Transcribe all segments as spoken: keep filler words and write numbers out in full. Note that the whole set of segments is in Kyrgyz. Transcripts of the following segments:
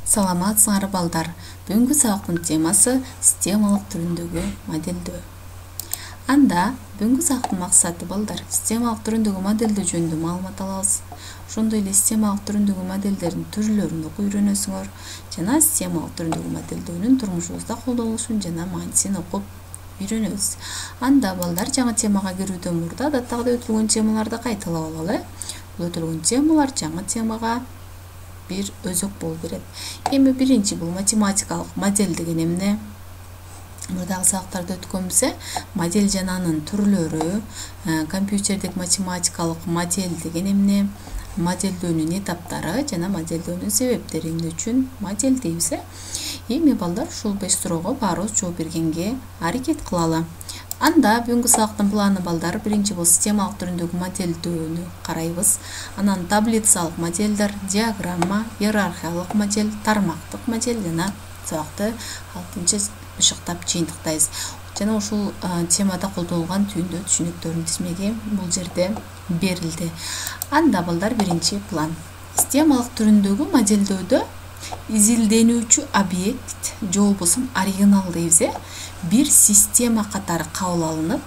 Саламатсыңар балдар. Бүгүнкү сабактын темасы системалык түрүндөгү модельдөө. Анда бүгүнкү сабактын максаты балдар системалык түрүндөгү модельдөө жөнүндө маалымат алабыз. Ошондой эле системалык түрүндөгү модельдердин түрлөрүн окуп үйрөнөсүңөр жана системалык түрүндөгү модельдөөнүн турмушубузда колдонулушун жана маанисин окуп үйрөнөбүз. Анда балдар жаңы темага кирүүдөн мурда адаттагыдай өтүлгөн темаларды кайталап алалы. Бул өтүлгөн темалар жаңы темага бир өзөк болуп берет. Эми биринчи бул математикалык модель деген эмне? Мурдагы сабактарда өткөнбүз, модель жана анын түрлөрү, компьютердик математикалык модель деген эмне, модельдөөнүн этаптары жана модельдөөнүн себептери эмне үчүн модель дейбиз. Эми балдар ушул беш суроого баарыбыз жооп бергенге аракет кылалы. Анда бүгүнкү сабактын планы балдар биринчи бул системалык түрүндөгү модельдөөнү карайбыз. Анан таблицалык модельдер, диаграмма, иерархиялык модель, тармактык модель жана сабакты алтынчы бышыктап жыйынтыктайбыз. Жана ушул темада колдонулган түйүндө түшүнүктөрдүн тизмеги бул жерде берилди. Анда балдар биринчи план. Системалык түрүндөгү модельдөөдө изилденүүчү объект же болбосо оригинал дейбиз. Бир система катары кабыл алынып,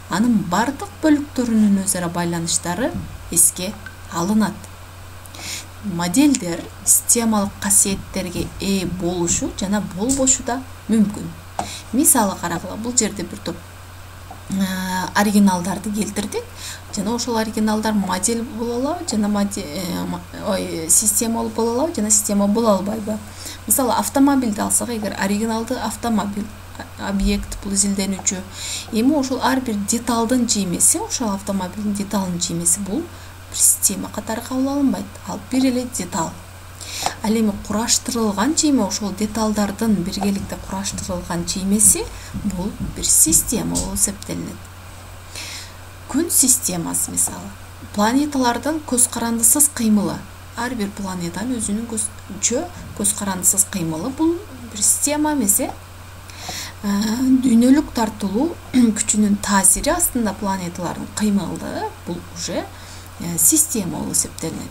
анын бардык бөлүктөрүнүн өз ара байланыштары эске алынат. Модельдер системалык касиеттерге ээ болушу жана болбошу да мүмкүн. Мисалы карагыла, бул жерде бир топ оригиналдарды келтирдик жана ошол оригиналдар модель боло алабы жана ой система боло алабы жана система боло албайбы. Мисалы автомобилди алсак, эгер оригиналды автомобиль объект бул изилденүүчү. Эми ошол ар бир деталдын жыймеси, ошол автомобилдин деталынын жыймеси бул бир система катары кабыл алынбайт. Ал бир эле деталь. Ал эми кураштырылган жыйме, ошол деталдардын биргеликте кураштырылган жыймеси бул бир система болуп эсептелинет. Күн системасы мисалы, планеталардын көз карандысыз кыймылы. Ар бир планетанын өзүнүн көзчө көз карандысыз кыймылы бул бир система эмес. Дүйнөлүк тартылуу күчүнүн таасири астында планеталардын кыймылы бул уже система болуп эсептелинет.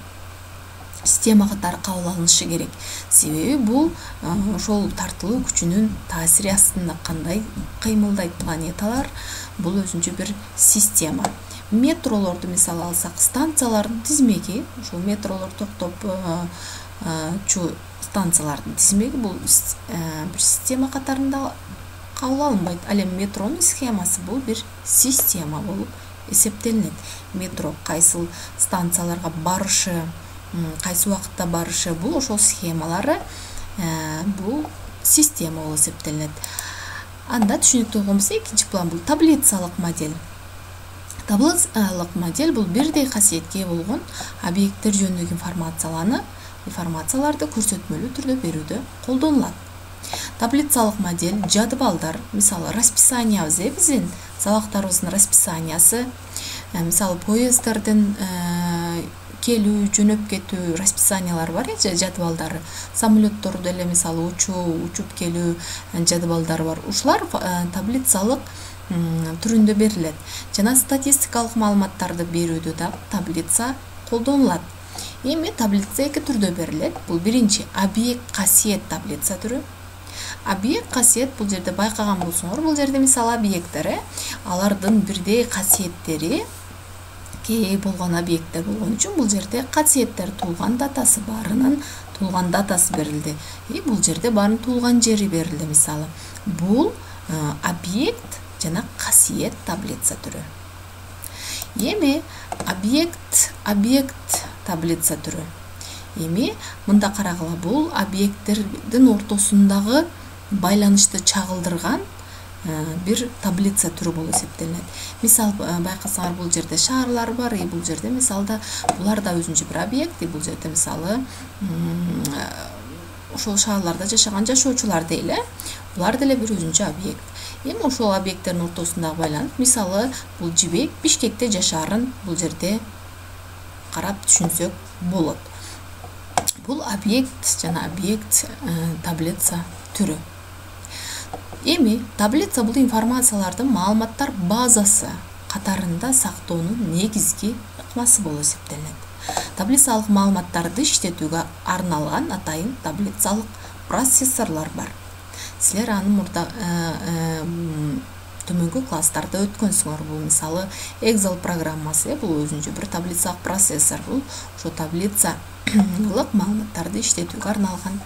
Система катары кабыл алынышы керек. Себеби бул ошол тартылуу күчүнүн таасири астында кандай кыймылдайт планеталар, бул өзүнчө бир система. Метролорду мисалы алсак, станциялардын тизмеги, ошол метролор токтоп чу станциялардын тизмеги бул бир система катарында кабыл алынбайт. Ал эми метронун схемасы бул бир система болуп эсептелинет. Метро кайсыл станцияларга барышы, кайсы убакытта барышы, бул ошол схемалары бул система болуп эсептелинет. Анда түшүнүктүү болгонбуз, экинчи план бул таблицалык модель. Таблицалык модель бул бирдей касиетке ээ болгон объекттер жөнүндөгү информацияланы, информацияларды көрсөтмөлүү түрдө берүүдө колдонулат. Таблицалык модель жадыбалдар, мисалы расписаниябыз, биздин сабактарыбыздын расписаниясы, мисалы поезддердин келүү, жөнөп кетүү расписаниялары бар, жадыбалдары. Самолетторду деле мисалы учуу, учуп келүү жадыбалдары бар. Ушулар таблицалык түрүндө берилет. Жана статистикалык маалыматтарды берүүдө да таблица колдонулат. Эми таблица эки түрдө берилет. Бул биринчи объект касиет таблица түрү. Объект касиет бул жерде байкаган болсоңор, бул жерде мисалы объекттер, алардын бирдей касиеттери ээ болгон объекттер болгон үчүн бул жерде касиеттер туулган датасы баарынын туулган датасы берилди. И бул жерде баарынын туулган жери берилди мисалы. Бул объект жана касиет таблица түрү. Эми объект объект таблица түрү. Эми мында карагыла, бул объекттердин ортосундагы байланышты чагылдырган бир таблица түрү болуп эсептелинет. Мисал байкасаңар, бул жерде шаарлар бар, и бул жерде мисалда булар да өзүнчө бир объект, и бул жерде мисалы ошол шаарларда жашаган жашоочулар дейли, булар деле бир өзүнчө объект. Эми ошол объекттердин ортосундагы байланыш, мисалы бул жибек Бишкекте жашаарын бул жерде карап түшүнсөк болот. Бул объект жана объект таблица түрү. Эми таблица бул информациялардын маалыматтар базасы катарында сактоонун негизги ыкмасы болуп эсептелинет. Таблицалык маалыматтарды иштетүүгө арналган атайын таблицалык процессорлор бар. Силер аны мурда төмөнкү класстарда өткөнсүңөр. Бул мисалы Excel программасы, бул өзүнчө бир таблицалык процессор. Бул ошо таблицалык маалыматтарды иштетүүгө арналган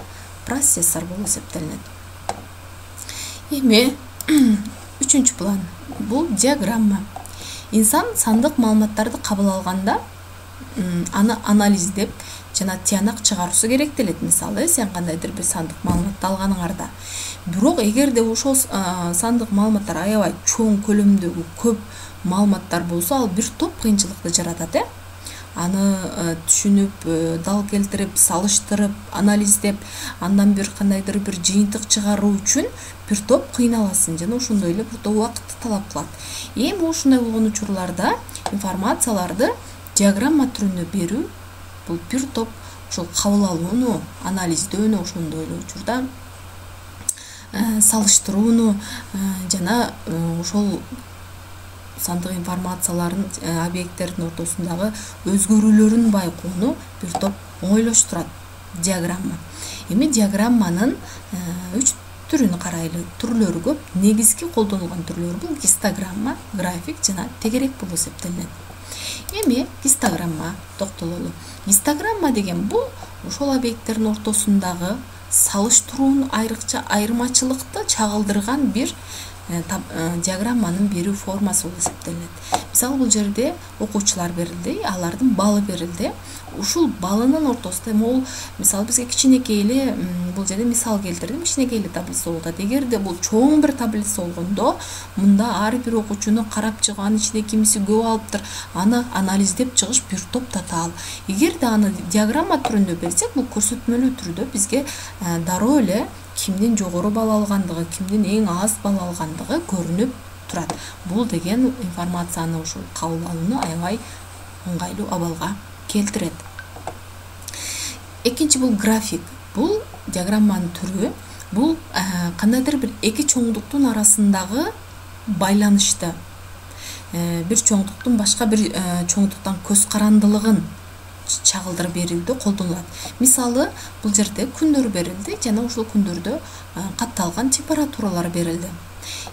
процессор болуп эсептелинет. Эми үчүнчү план бул диаграмма. Инсан сандык маалыматтарды кабыл алганда аны анализдеп жана тыянак чыгаруусу керектелет. Мисалы, сен кандайдыр бир сандык маалыматты алганыңарда. Бирок эгерде ошол сандык маалыматтар аябай чоң көлөмдөгү көп маалыматтар болсо, ал бир топ кыйынчылыкты жаратат, э? Аны түшүнүп, дал келтирип, салыштырып, анализдеп, андан бир кандайдыр бир жыйынтык чыгаруу үчүн бир топ кыйналасың жана ошондой эле бир топ убакытты талап кылат. Эми ушундай болгон учурларда информацияларды диаграмма түрүндө берүү бул бир топ ошол кабыл алууну, анализдөөнү, ошондой эле учурда салыштырууну жана ошол сандык информациялардын объекттердин ортосундагы өзгөрүүлөрүн байкоону бир топ оңойлоштурат диаграмма. Эми диаграмманын үч түрүн карайлы. Түрлөрү көп. Негизги колдонулган түрлөрү бул гистограмма, график жана тегерек болуп эсептелинет. Эми гистограмма токтололу. Гистограмма деген бул ошол объекттердин ортосундагы салыштыруунун айрыкча айырмачылыкты чагылдырган бир диаграмманын берүү формасы болуп эсептелинет. Мисалы, бул жерде окуучулар берилди, алардын балы берилди. Ушул балынын ортосунда могул, мисалы, бизге кичинекей эле бул жерде мисал келтирдим, кичинекей эле таблица болуп атат. Эгерде бул чоң бир таблица болгондо, мында ар бир окуучуну карап чыгып, анын ичинде кимиси көп алыптыр, аны анализдеп чыгыш бир топ татаал. Эгерде аны диаграмма түрүндө берсек, бул көрсөтмөлүү түрдө бизге дароо эле кимдин жогору бал алгандыгы, кимдин эң аз бал алгандыгы көрүнүп турат. Бул деген информацияны ошол кабыл алууну аябай ыңгайлуу абалга келтирет. Экинчи бул график. Бул диаграмманын түрү. Бул кандайдыр бир эки чоңдуктун арасындагы байланышты, бир чоңдуктун башка бир чоңдуктан көз карандылыгын чагылдырып берүүдө колдонулат. Мисалы, бул жерде күндөр берилди жана ошол күндөрдө катталган температуралар берилди.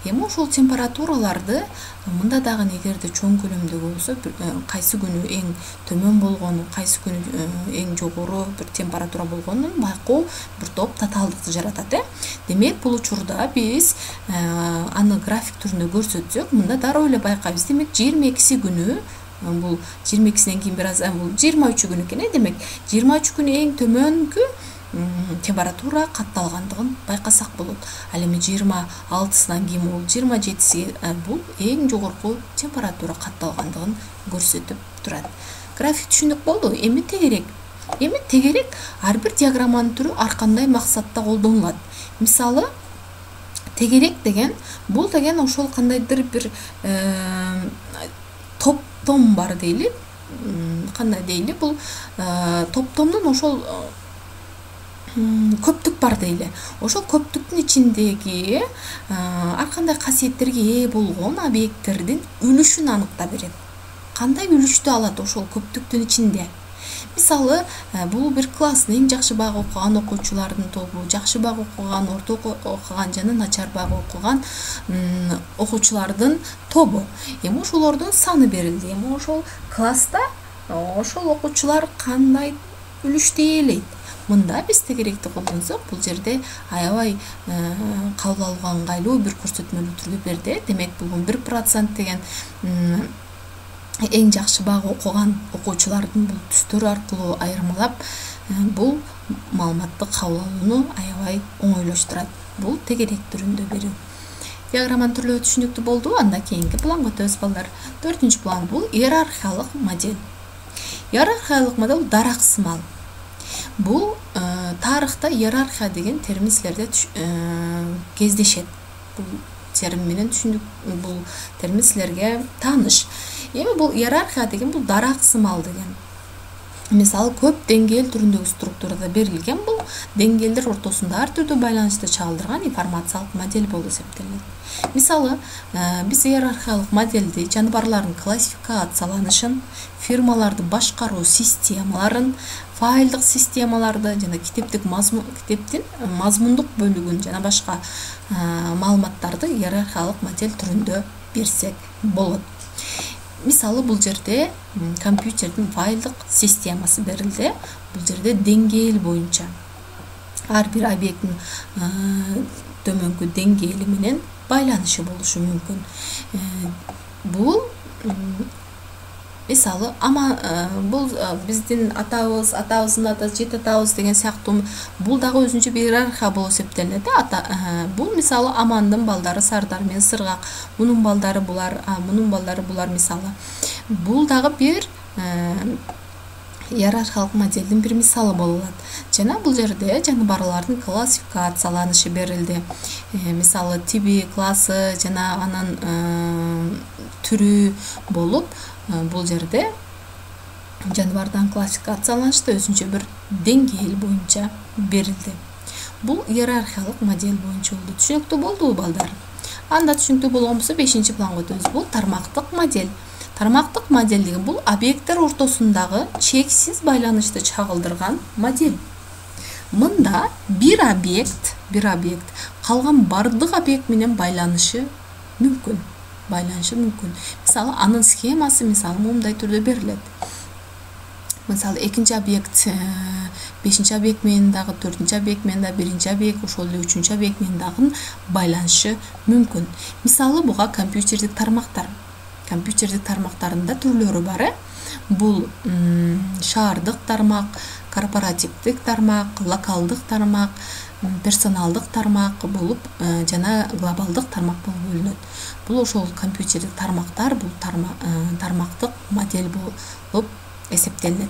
Эми ошол температураларды мында дагы эгерде чоң көлөмдөгү болсо, кайсы күнү эң төмөн болгону, кайсы күнү эң жогору бир температура болгонун байкоо бир топ татаалдыкты жаратат, э? Демек, бул учурда биз аны график түрүндө көрсөтсөк, мында дароо эле байкайбыз. Демек, жыйырма экиси күнү, бул жыйырма экисинен кийин бир аз, бул жыйырма үчү күнү экен, э? Демек, жыйырма үч күнү эң төмөнкү температура катталгандыгын байкасак болот. Ал эми жыйырма алтысынан кийин бул жыйырма жетиси бул эң жогорку температура катталгандыгын көрсөтүп турат. График түшүндүк болду. Эми тегерек. Эми тегерек ар бир диаграмманын түрү ар кандай максатта колдонулат. Мисалы, тегерек деген бул деген ошол кандайдыр бир топтом бар дейли. Кандай дейли, бул топтомдун ошол көптүк бар дейли. Ошол көптүктүн ичиндеги ар кандай касиеттерге ээ болгон объекттердин үлүшүн аныктап берет. Кандай үлүштү алат ошол көптүктүн ичинде? Мисалы, бул бир класстын эң жакшы багы окуган окуучулардын тобу, жакшы багы окуган, орто окуган жана начар багы окуган окуучулардын тобу. Эми ошолордун саны берилди. Эми ошол класста ошол окуучулар кандай үлүштү ээлейт? Мында биз тегеректи колдонсок, бул жерде аябай кабыл алууга ыңгайлуу бир көрсөтмөлүү түрдө берди. Демек, бул бир процент деген эң жакшы багы окуган окуучулардын бул түстөрү аркылуу айырмалап, бул маалыматты кабыл алууну аябай оңойлоштурат. Бул тегерек түрүндө берүү. Диаграмманын түрлөрү түшүнүктүү болду. Анда кийинки планга өтөбүз балдар. Төртүнчү план бул иерархиялык модель. Иерархиялык модель дараксымал. Бул тарыхта иерархия деген термин силерде кездешет. Бул термин менен түшүндүк, бул термин силерге тааныш. Эми бул иерархия деген бул дараксымал деген. мисалы көп деңгээл түрүндөгү структурада берилген бул деңгээлдер ортосунда ар түрдүү байланышты чагылдырган информациялык модель болуп эсептелет. Мисалы, биз иерархиялык модельди жаныбарлардын классификацияланышын, фирмаларды башкаруу системаларын, файлдык системаларды жана китептик мазмун китептин мазмундук бөлүгүн жана башка маалыматтарды иерархиялык модель түрүндө берсек болот. Мисалы, бул жерде компьютердин файлдык системасы берилди. Бул жерде деңгээл боюнча ар бир объекттин төмөнкү деңгээли менен байланышы болушу мүмкүн. Бул мисалы ама бул биздин атабыз, атабыздын атасы, жет атабыз деген сыяктуу бул дагы өзүнчө бир иерархия болуп эсептелет. Бул мисалы Амандын балдары Сардар менен Сыргак, мунун балдары булар, мунун балдары булар мисалы. Бул дагы бир иерархиялык моделдин бир мисалы болот. Жана бул жерде жаныбарлардын классификацияланышы берилди. Мисалы тиби, классы жана анын түрү болуп, бул жерде жаныбардан классификацияланышты өзүнчө бир деңгээл боюнча берилди. Бул иерархиялык модель боюнча болду. Түшүнүктүү болдубу балдар? Анда түшүнүктүү болгон болсо бешинчи планга өтөбүз. Бул тармактык модель. Тармактык модель деген бул объекттер ортосундагы чексиз байланышты чагылдырган модель. Мында бир объект, бир объект калган бардык объект менен байланышы мүмкүн. Байланышы мүмкүн. Мисалы, анын схемасы мисалы мындай түрдө берилет. Мисалы, экинчи объект бешинчи объект менен дагы, төртүнчү объект менен дагы, биринчи объект, ошол эле үчүнчү объект менен дагы байланышы мүмкүн. Мисалы, буга компьютердик тармактар. Компьютердик тармактарында түрлөрү бар. Бул шаардык тармак, корпоративдик тармак, локалдык тармак, персоналдык тармак болуп жана глобалдык тармак болуп бөлүнөт. Бул ошол компьютердик тармактар, бул тармактык модель болуп эсептелет.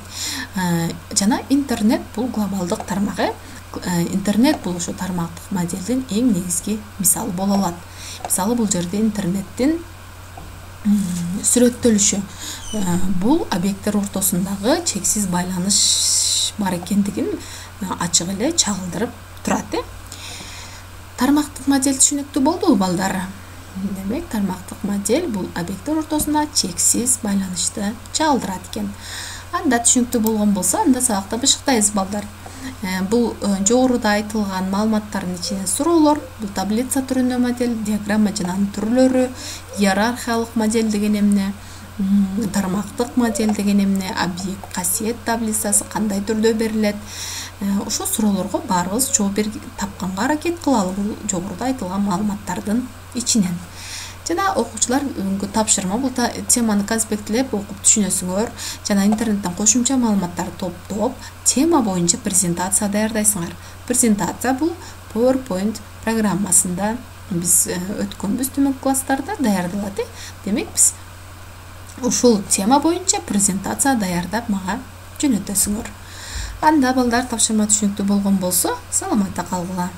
Жана интернет бул глобалдык тармагы. Интернет бул ошо тармактык моделдин эң негизги мисалы боло алат. Мисалы, бул жерде интернеттин сүрөттөлүшү бул объекттер ортосундагы чексиз байланыш бар экендигин ачык эле чагылдырып турат. Тармактык модель түшүнүктүү болдубу балдар? Демек, тармактык модель бул объекттер ортосунда чексиз байланышты чагылдырат экен. Анда түшүнүктүү болгон болсо, анда сабакта бышыктайбыз балдар. Бул жогоруда айтылган маалыматтардын ичинен суроолор, бул таблица түрүндө модель, диаграмма жана анын түрлөрү, иерархиялык модель деген эмне, тармактык модель деген эмне, объект касиет таблицасы кандай түрдө берилет. Ошол суроолорго баарыбыз жооп тапканга аракет кылалы бул жогоруда айтылган маалыматтардын ичинен. Жана окуучулар бүгүнкү тапшырма бул теманы конспекттелеп окуп түшүнөсүңөр жана интернеттен кошумча маалыматтарды топтоп, тема боюнча презентация даярдайсыңар. Презентация бул PowerPoint программасында биз өткөнбүз төмөнкү класстарда даярдалат. Демек, биз ушул тема боюнча презентация даярдап мага жөнөтөсүңөр. Анда балдар, тапшырма түшүнүктүү болгон болсо, саламатта калгыла.